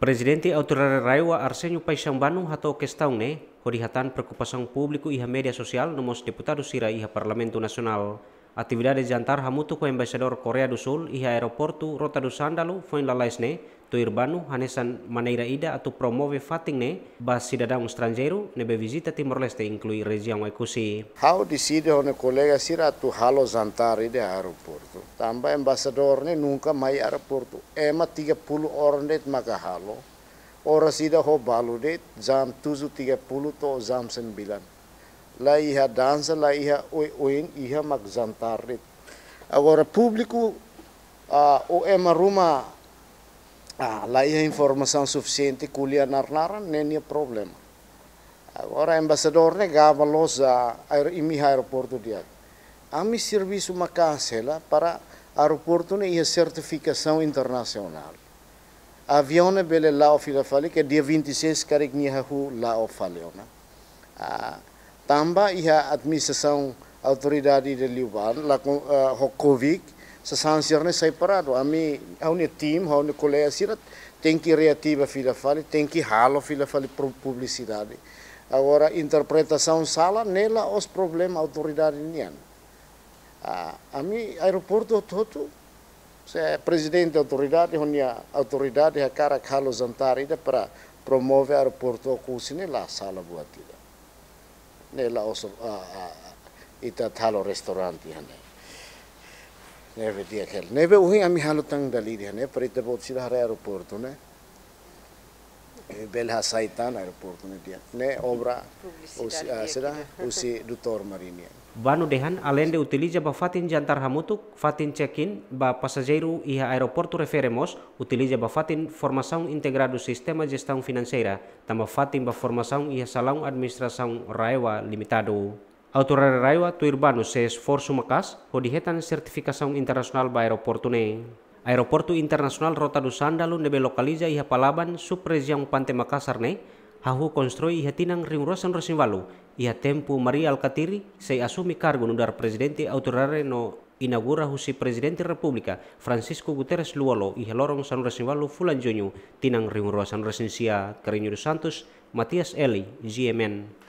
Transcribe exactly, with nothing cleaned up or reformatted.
Prezidente Autoridade RAEOA Arsenio Paixão Bano hato'o kestaun ne'e hodi hatán preokupasaun públiku iha média sosiál no mós deputadu sira iha Parlamentu Nasionál. Atividade jantar hamutuk ho Embaixadór Koreia do Súl iha Aeroportu Rota do Sândalo foin lalais ne'e, tuir Bano hanesan maneira ida atu promove fatin ne'e ba sidadaun estranjeiru ne'ebé vizita Timor-Leste, inklui rejiaun Oekusi. Ha'u deside ho ha'u-nia kolega sira atu halo jantar iha aeroportu. Tanba embaixadór ne'e nunka mai aeroportu. Ema tiga puluh orang de'it maka halo. Oras ida ho balu de'it, jam tujuh tiga puluh to'o jam sembilan. La iha dansa, la iha oioin, iha mak jantar de'it. Agora públiku, ah, ou ema ruma, ah, la iha informasaun sufisiente ko'alia nar-naran, ne'e nia problema. Agora embaixadór ne'e gaba loos, ah, aer-, imi iha aeroportu di'ak. Ami servisu maka'as hela para aeroportu ne'e iha sertifikasaun internasionál. Aviaun ne'e bele la'o fila fali, ke dia vinte e seis karik nia hahú la'o fali ona. Ah, tanba iha administrasaun autoridade de liubá, la kon, ah, ho COVID, sasán sira-ne'e sai paradu. Ami, ha'u-nia tim, ha'u-nia kolega sira, tenke reativa fila fali, tenke halo fila fali pro-, publisidade. Agora, interpretasaun sala, ne'e la'ós problema autoridade nian. Ah, ami aeroportu hotu-hotu, se prezidente autoridade, ho nia autoridade hakarak halo jantar ida para promove aeroportu Oekusi ne'e la sala buat ida. Ne'e la'ós, ah, ah, ah, ita halo restaurante iha ne'e. Ne'ebé di'ak hela. Ne'ebé ohin ami halo tan dala ida iha ne'e, para ita-boot sira haree aeroportu ne'e. Eh, bele hasai tan aeroportu ne'e di'ak. Ne'e obra publisidade husi, ah, di'ak sira, ida. Husi doutór Marini. Bano dehan, aleinde utiliza ba fatin jantar hamutuk, fatin check-in ba pasajeiru iha aeroportu refere mós utiliza ba fatin formasaun integradu sistema jestaun finanseira, tanba fatin ba formasaun iha salaun administrasaun RAEOA Limitadu. Autoridade RAEOA tuir Bano sei esforsu maka'as hodi hetan sertifikasaun internasionál ba aeroportu ne'e. Aeroportu Internasionál Rota do Sândalo ne'ebé lokaliza iha Palaban, sub-rejiaun Pante Makasar ne'e, hahú konstrui iha tinan rihun rua sanulu-resin-ualu, iha tempu Mari Alkatiri sei asume kargu nu'udar Prezidente Autoridade no inaugura husi Prezidente Repúblika Francisco Guterres Lú-Olo iha loron sanulu-resin-ualu fulan Juñu tinan rihun rua sanulu-resin-sia. Carreño dos Santos, Matias Eli, G M N.